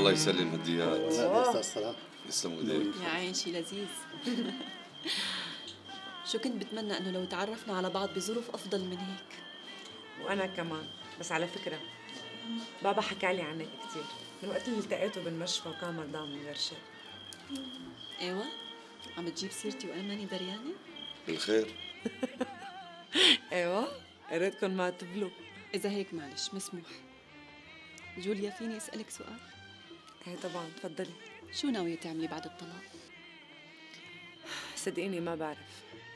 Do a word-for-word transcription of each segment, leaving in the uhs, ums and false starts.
الله يسلم هديات. استاذ صلاح يسلموا ايديك. يا عين شي لذيذ. شو كنت بتمنى انه لو تعرفنا على بعض بظروف افضل من هيك. وانا كمان، بس على فكره بابا حكى لي عنك كثير من وقت اللي التقيته بالمشفى وكان مرضان من غير شيء. ايوه عم تجيب سيرتي وانا ماني دريانه؟ بالخير. ايوه قريتكم ما تبلوا. اذا هيك معلش مسموح. جوليا فيني اسالك سؤال؟ ايه طبعا تفضلي. شو ناويه تعملي بعد الطلاق؟ صدقيني ما بعرف،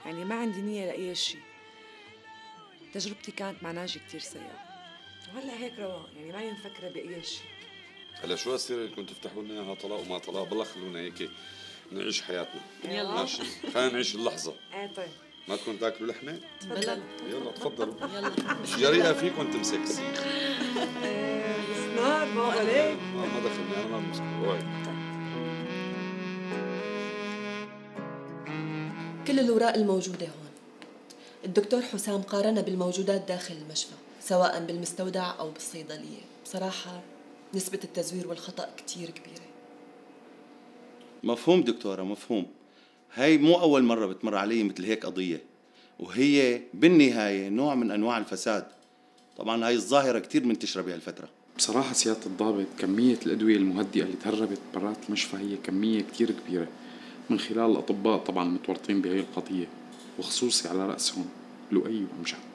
يعني ما عندي نيه لاي شيء. تجربتي كانت مع ناجي كثير سيئه وهلا هيك رواق، يعني ماني مفكره باي شيء. هلا شو هالسيره اللي كنتوا تفتحوا لنا اياها طلاق وما طلاق؟ بالله خلونا هيك نعيش حياتنا. يلا ماشي خلينا نعيش اللحظه. ايه طيب ما تكون تاكلوا لحمه؟ بلا. يلا تفضلوا. يلا مش جريئه فيكم تمسك. ايه بس نار ما عليك. ما ما دخلني انا ما بمسك. اوعي. كل الأوراق الموجودة هون. الدكتور حسام قارن بالموجودات داخل المشفى سواء بالمستودع أو بالصيدلية. بصراحة نسبة التزوير والخطأ كتير كبيرة. مفهوم دكتورة مفهوم. هاي مو أول مرة بتمر علي مثل هيك قضية، وهي بالنهاية نوع من أنواع الفساد. طبعا هاي الظاهرة كتير منتشرة بهالفترة. بصراحة سيادة الضابط كمية الأدوية المهدئة اللي تهربت برات المشفى هي كمية كتير كبيرة من خلال الأطباء طبعا متورطين بهي القضية، وخصوصي على رأسهم لؤي وأمجد.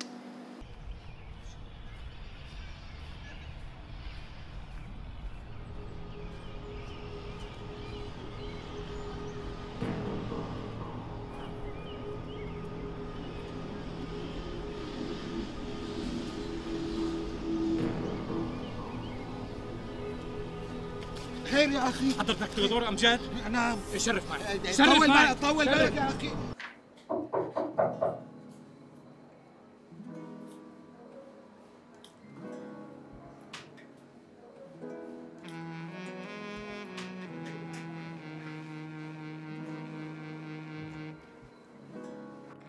خير يا اخي. حضرتك دكتور امجد؟ نعم. شرف معي. طول بالك طول بالك يا اخي.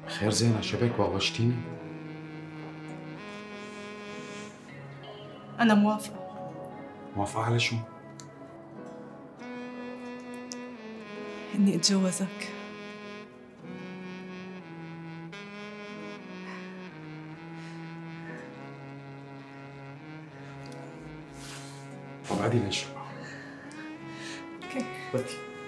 خير زينة شبك وغشتيني؟ أنا موافقة. موافقة على شو؟ إني أتجوزك. طب عادي ليش؟ اوكي. بدي